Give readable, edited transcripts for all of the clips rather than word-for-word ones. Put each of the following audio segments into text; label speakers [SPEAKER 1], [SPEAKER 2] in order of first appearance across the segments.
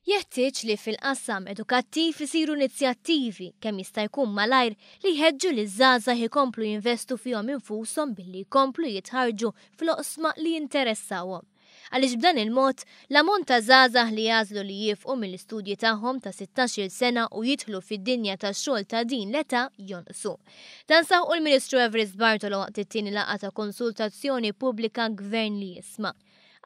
[SPEAKER 1] Jeħtieġ li fil-qasam edukattiv isiru inizjattivi kemm jista' jkun malajr li jħeġġu liż-żgħażagħ ikomplu jinvestu fihom infushom billi jkomplu jitħarrġu fl-oqsma li jinteressawhom. Għaliex b'dan il-mod, l-ammont ta' żgħażagħ li jagħżlu li jiefqu mill-istudji tagħhom ta' 16-il sena u jidħlu fid-dinja tax-xogħol ta' din l-età jonqsu. Dan saħqu l-Ministru Evarist Bartolo waqt it-tieni laqgħa ta' konsultazzjoni pubblika Gvern li Jisma'.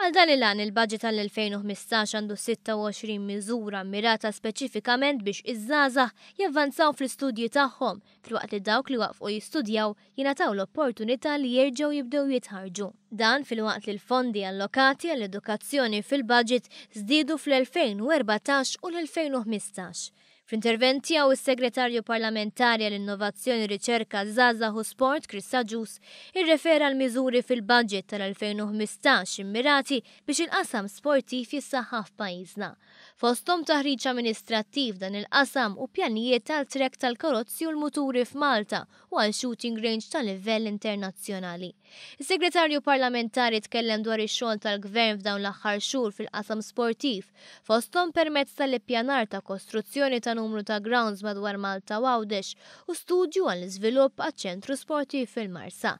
[SPEAKER 1] Għal dan il-għan, il-budget għall-2015 għandu 26 miżura mmirata speċifikament biex iż-żgħażagħ javvanzaw fl-istudji tagħhom, filwaqt li dawk li waqfqu jistudjaw jingħataw l-opportunità li jerġgħu jibdew jitħarrġu. Dan filwaqt li l-fondi allokati għall-edukazzjoni fil-budget żdiedu fl-2014 u l-2015. Fl-intervent tiegħu is-Segretarju Parlamentari għall-Innovazzjoni, Riċerka, Żgħażagħ u Sport Chris Agius irrefera għall-miżuri fil-budget tal-2015 immirati biex il-qasam sportiv jissaħħaħ f'pajjiżna. Fosthom taħriġ amministrattiv f'dan il-qasam u pjanijiet għal track tal-karozzi u l-muturi f'Malta u għal shooting range ta' livell internazzjonali. Is-Segretarju Parlamentari tkellem dwar ix-xogħol tal-Gvern f'dawn l-aħħar xhur fil-qasam sportiv, fosthom permezz tal-ippjanar ta' kostruzzjoni ta' numru ta' grounds madwar Malta u Għawdex u studju għall-iżvilupp għaċ-ċentru sportiv fil-Marsa.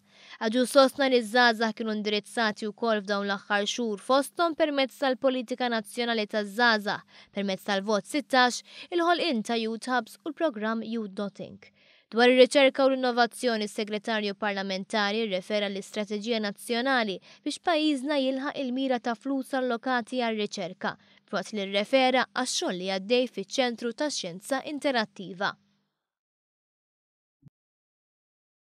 [SPEAKER 1] Agius sostna li ż-żgħażagħ kienu indirizzati wkoll f'dawn l-aħħar xhur fosthom permezz tal-Politika Nazzjonali taż-Żgħażagħ, permezz tal-Vot 16, il-ħolqien ta' Youth Hubs u l-programm Youth Dot Inc. Dwar ir-riċerka u l-innovazzjoni s-Segretarju Parlamentari rrefera l-istrateġija nazzjonali biex pajjiżna jilħaq il-mira ta' flus allokati għar-riċerka, filwaqt li rrefera għax-xogħol li għaddej fiċ-Ċentru tax-Xjenza Interattiva.